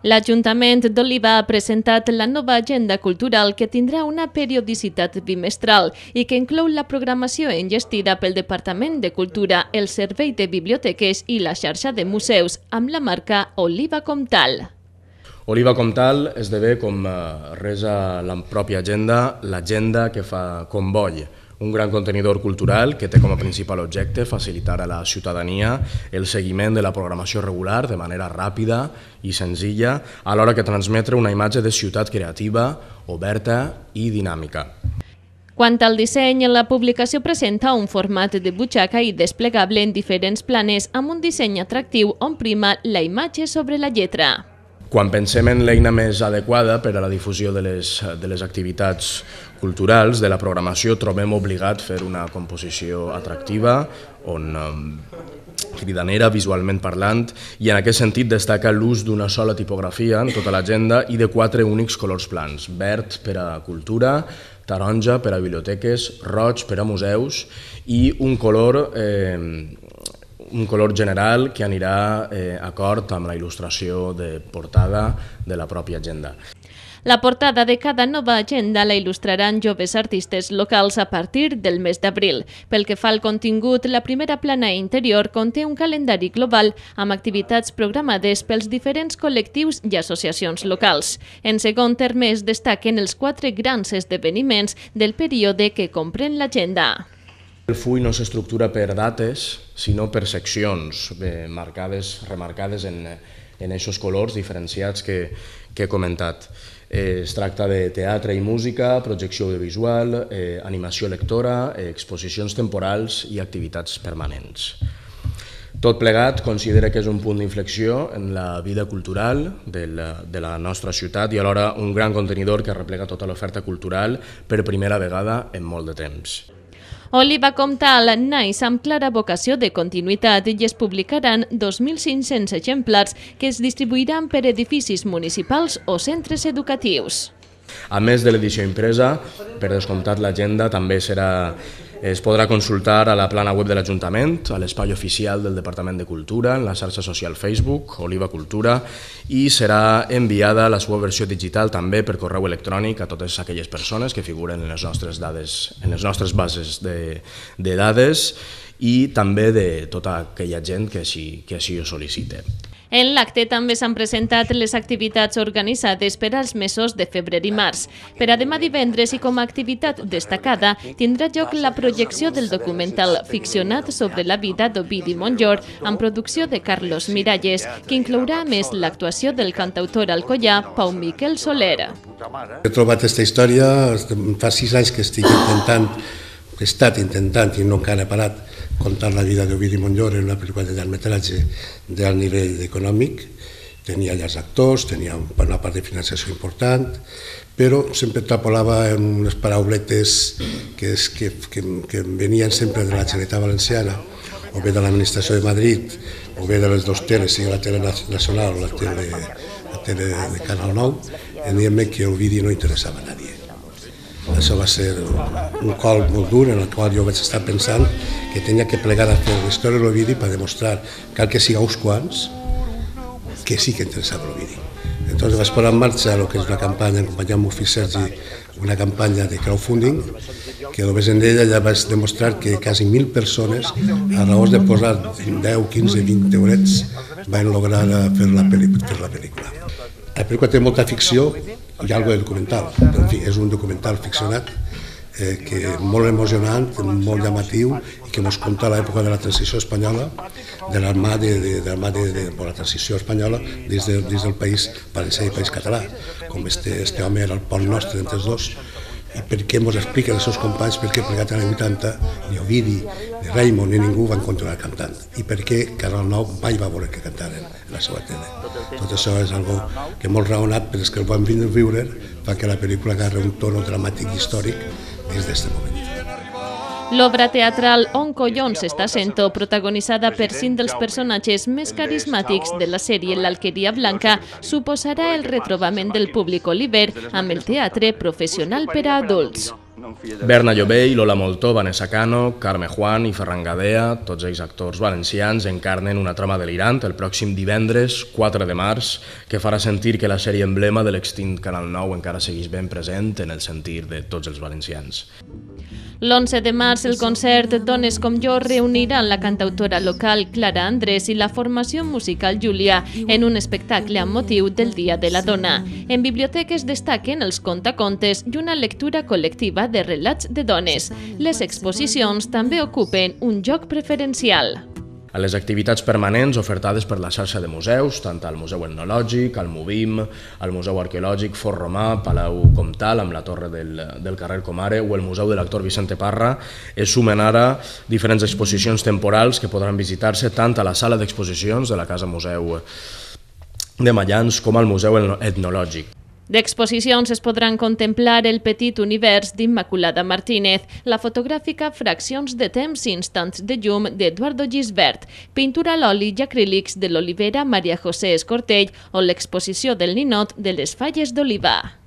L'Ajuntament d'Oliva ha presentat la nova agenda cultural que tindrà una periodicitat bimestral i que inclou la programació enllestida pel Departament de Cultura, el Servei de Biblioteques i la xarxa de museus amb la marca Oliva Comtal. Oliva Comtal esdevé, com res a la pròpia agenda, l'agenda que fa Comboi, un gran contenidor cultural que té com a principal objecte facilitar a la ciutadania el seguiment de la programació regular de manera ràpida i senzilla, alhora que transmetre una imatge de ciutat creativa, oberta i dinàmica. Quant al disseny, la publicació presenta un format de butxaca i desplegable en diferents planes amb un disseny atractiu on prima la imatge sobre la lletra. Quan pensem en l'eina més adequada per a la difusió de les activitats culturals, de la programació, trobem obligat fer una composició atractiva, cridanera, visualment parlant, i en aquest sentit destaca l'ús d'una sola tipografia en tota l'agenda i de 4 únics colors plans: verd per a cultura, taronja per a biblioteques, roig per a museus i un color general que anirà d'acord amb la il·lustració de portada de la pròpia agenda. La portada de cada nova agenda la il·lustraran joves artistes locals a partir del mes d'abril. Pel que fa al contingut, la primera plana interior conté un calendari global amb activitats programades pels diferents col·lectius i associacions locals. En segon terme, es destaquen els 4 grans esdeveniments del període que comprèn l'agenda. El full no s'estructura per dates, sinó per seccions remarcades en aquests colors diferenciats que he comentat. Es tracta de teatre i música, projecció audiovisual, animació lectora, exposicions temporals i activitats permanents. Tot plegat considera que és un punt d'inflexió en la vida cultural de la nostra ciutat i alhora un gran contenidor que replega tota l'oferta cultural per primera vegada en molt de temps. Oliva Comtal naix amb clara vocació de continuïtat i es publicaran 2.500 exemplars que es distribuiran per edificis municipals o centres educatius. A més de l'edició impresa, per descomptat l'agenda també es podrà consultar a la plana web de l'Ajuntament, a l'espai oficial del Departament de Cultura, en la xarxa social Facebook, Oliva Cultura, i serà enviada la seva versió digital també per correu electrònic a totes aquelles persones que figuren en les nostres bases de dades i també de tota aquella gent que així ho sol·licite. En l'acte també s'han presentat les activitats organitzades per als mesos de febrer i març. Per a demà divendres i com a activitat destacada tindrà lloc la projecció del documental ficcionat sobre la vida d'Ovidi Montllor amb producció de Carlos Miralles, que inclourà a més l'actuació del cantautor alcoià Pau Miquel Soler. He trobat aquesta història, fa 6 anys que he estat intentant i no encara he parat contar la vida d'Ovidi Montllor en una pel·lícula de llargmetratge d'alt nivell econòmic. Tenia llargs actors, tenia una part de finançació important, però sempre trapolava en unes parauletes que venien sempre de la Generalitat Valenciana, o bé de l'administració de Madrid, o bé de les 2 teles, sigui la tele nacional o la tele de Canal 9, en dient-me que Ovidi no interessava a nadie. Això va ser un col molt dur en el qual jo vaig estar pensant que tenia que plegar a fer la història de l'Ovidi per demostrar cal que siga uns quants que sí que interessava l'Ovidi. Entonces vaig posar en marxa el que és una campanya, acompanyant amb el fill Sergi, una campanya de crowdfunding, que només en ella ja vaig demostrar que quasi 1.000 persones, a raó de posar 10, 15, 20 eurets, van lograr fer la pel·lícula. La pel·lícula té molta ficció i alguna de documental. En fi, és un documental ficcionat molt emocionant, molt llamatiu i que ens conta l'època de la transició espanyola, de la transició espanyola dins del país valencià i país català, com este home era el pont nostre entre els dos, i per què ens expliquen els seus companys per què plegat en els 80 ni Ovidi, ni Raimon, ni ningú van continuar cantant i per què Canal 9 mai va voler que cantaren en la seva tele. Tot això és algo que molt raonat, però és que el van viure fa que la pel·lícula agarra un tono dramàtic i històric des d'aquest moment. L'obra teatral On Collons està sent protagonitzada per 5 dels personatges més carismàtics de la sèrie L'Alqueria Blanca, suposarà el retrobament del públic oliver amb el teatre professional per a adults. Berna Llobell, Lola Moltó, Vanessa Cano, Carme Juan i Ferran Gadea, tots ells actors valencians, encarnen una trama delirant el pròxim divendres 4 de març que farà sentir que la sèrie emblema de l'extint Canal 9 encara segueix ben present en el sentir de tots els valencians. L'11 de març, el concert Dones com jo reunirà la cantautora local Clara Andrés i la formació musical Júlia en un espectacle amb motiu del Dia de la Dona. En biblioteques destaquen els contacontes i una lectura col·lectiva de relats de dones. Les exposicions també ocupen un lloc preferencial. A les activitats permanents ofertades per la xarxa de museus, tant al Museu Etnològic, al MUBIM, al Museu Arqueològic Fort Romà, Palau Comtal, amb la torre del carrer Comare, o el Museu de l'Actor Vicente Parra, es sumen ara diferents exposicions temporals que podran visitar-se tant a la sala d'exposicions de la Casa Museu de Mallans com al Museu Etnològic. D'exposicions es podran contemplar el petit univers d'Immaculada Martínez, la fotogràfica Fraccions de temps i instants de llum d'Eduardo Gisbert, pintura a l'oli i acrílics de l'olivera Maria José Escortell o l'exposició del ninot de les falles d'oliva.